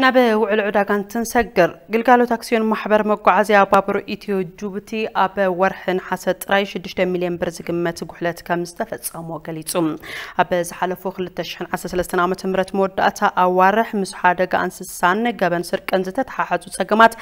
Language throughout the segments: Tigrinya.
ናብ ውዕል ዕዳጋ እንትንሰግር፣ ግልጋሎት ኣክስዮን ማሕበር መጓዓዝያ ባቡር ኢትዮ ጅቡቲ ኣብ ወርሒ ነሓሰ ጥራይ ሽዱሽተ ሚልዮን ብር ዝግመት ጉሕለት ከም ዝተፈጸሞ ገሊጹ። ኣብ ዝሓለፉ ክልተ ሽሕን ዓሰርተ ሰለስተን ዓመተ ምህረት መወዳእታ ኣዋርሕ ምስ ሓደጋ እንስሳን ገበን ስርቅን ዝተተሓሓዙ ጸገማት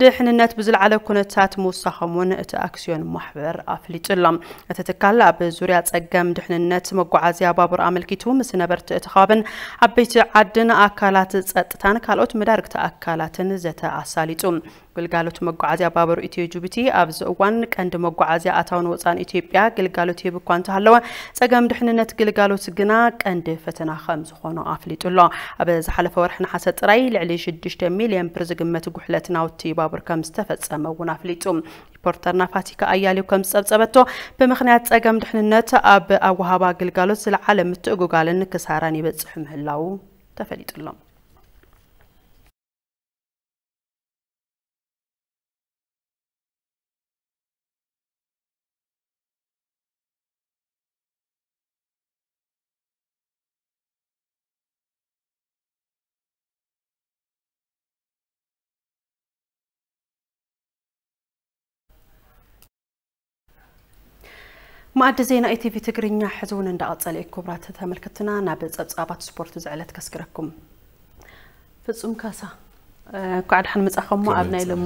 ድሕንነት ብዝለዓለ ኩነታት ምውሳኾም እውን እቲ ኣክስዮን ማሕበር ኣፍሊጡ ኣሎ። እቲ ትካል ኣብ ዙርያ ጸገም ድሕንነት መጓዓዝያ ባቡር ኣመልኪቱ ምስ ነበርቲ እቲ ከባብን ዓበይቲ ዓድን ኣካላት ጸጥታን ካልኦት መዳርግቲ ኣካላትን ዘተ ኣሳሊጡ። ግልጋሎት መጓዓዝያ ባቡር ኢትዮ ጅቡቲ ኣብዚ እዋን ቀንዲ መጓዓዝያ ኣታውን ወጻን ኢትዮጵያ ግልጋሎት ይህብ እኳ እንተሃለወ፣ ጸገም ድሕንነት ግልጋሎት ግና ቀንዲ ፈተና ከም ዝኾኖ ኣፍሊጡ ኣሎ። ኣብ ዝሓለፈ ወርሒ ነሓሰ ጥራይ ልዕሊ ሽዱሽተ ሚልዮን ብር ዝግመት ጉሕለት ናውቲ ባቡር ከም ዝተፈጸመ እውን ኣፍሊጡ። ሪፖርተርና ፋቲካ ኣያሌው ከም ዝጸብጸበቶ፣ ብምኽንያት ጸገም ድሕንነት ኣብ ኣወሃባ ግልጋሎት ዝለዓለ ምትእጉጋልን ክሳራን ይበጽሕ ምህላዉ ተፈሊጡ ኣሎ። መኣዲ ዜና ኢቲቪ ትግርኛ ሕዚ እውን እንዳቐጸለ እዩ። ክቡራት ተመልከትና፣ ናብ ጸብጻባት ስፖርት ዝዕለት ከስግረኩም። ፍጹም ካሳ፣ እንኳዕ ደሓን መጻኹም። ኣብ ናይ ሎሚ